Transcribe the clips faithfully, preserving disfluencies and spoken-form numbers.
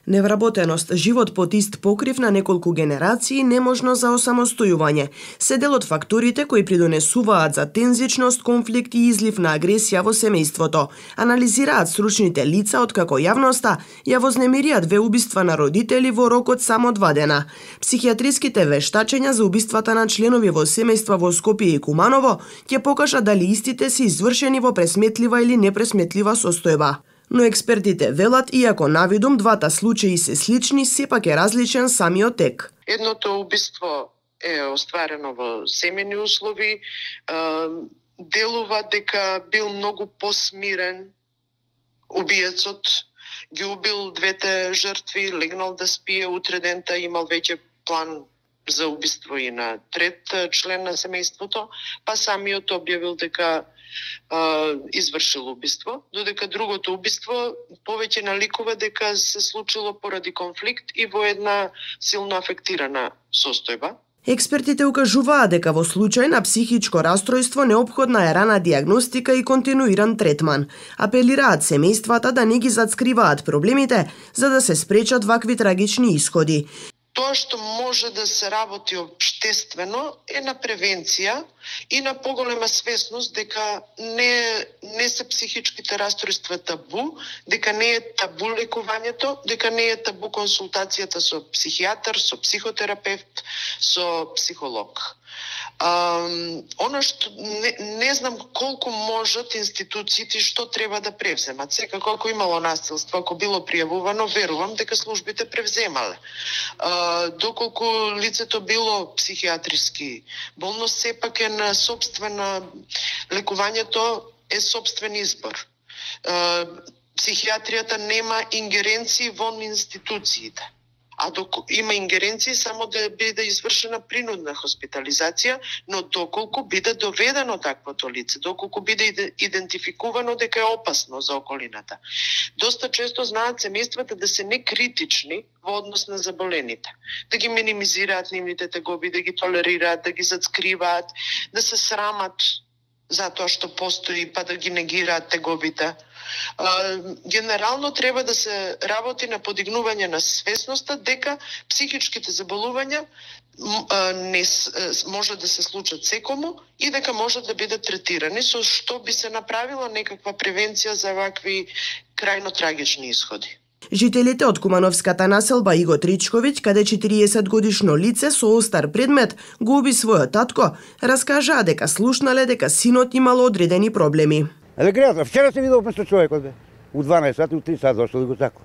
Невработеност, живот под ист покрив на неколку генерации, неможно за осамостојување, се дел од факторите кои придонесуваат за тензичност, конфликт и излив на агресија во семејството, анализираат стручните лица откако јавноста ја вознемирија две убиства на родители во рок од само два дена. Психијатриските вештачења за убиствата на членови во семејства во Скопје и Куманово ќе покажат дали истите се извршени во пресметлива или непресметлива состојба. Но експертите велат, иако навидум двата случаи се слични, сепак е различен самиот тек. Едното убиство е остварено во семејни услови, делува дека бил многу посмирен убиецот, ги убил двете жртви, легнал да спие, утре дента имал веќе план за убиство и на трет член на семејството, па самиот објавил дека Uh, извршил убиство, додека другото убиство повеќе наликува дека се случило поради конфликт и во една силно афектирана состојба. Експертите укажуваат дека во случај на психичко расстройство неопходна е рана диагностика и континуиран третман. Апелираат семејствата да не ги зацкриваат проблемите за да се спречат вакви трагични исходи. Тоа што може да се работи општествено е на превенција и на поголема свесност дека не, не се психичките расстройства табу, дека не е табу лекувањето, дека не е табу консултацијата со психијатар, со психотерапевт, со психолог. Um, оно што не, не знам колку можат институциите што треба да превземат. Секако ако имало насилство, ако било пријавувано, верувам дека службите превземале. Uh, доколку лицето било психијатриски болно, сепак е на собствена лекувањето е собствен избор. Uh, психијатријата нема ингеренции во институциите. А доколку има ингеренции само да биде извршена принудна хоспитализација, но доколку биде доведено таквото лице, доколку биде идентификувано дека е опасно за околината. Доста често знаат семејствата да се некритични во однос на заболените, да ги минимизираат нивните тегоби, да ги толерираат, да ги зацкриваат, да се срамат за тоа што постои, па да ги негираат тегобите. Uh, генерално треба да се работи на подигнување на свесноста дека психичките заболувања uh, не uh, може да се случат секому и дека може да бидат третирани, со што би се направила некаква превенција за вакви крајно трагични исходи. Жителите од кумановската населба Иго Тричковиќ, каде четириесет годишно лице со остар предмет го уби својот татко, раскажаа дека слушнале дека синот имал одредени проблеми. Еле вчера се видел место човекот бе. У дванаесет сати, у три сати дошло да го тако.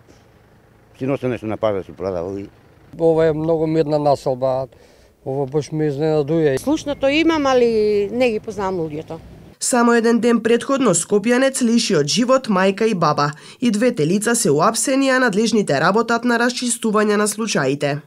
Си носе нешто на пазар, се продавал и... Ова е многу мирна населба. Ова баш ме изненадуја. Слушнато имам, али не ги познавам луѓето. Само еден ден предходно скопјанец лиши од живот мајка и баба. И двете лица се уапсени, а надлежните работат на расчистување на случаите.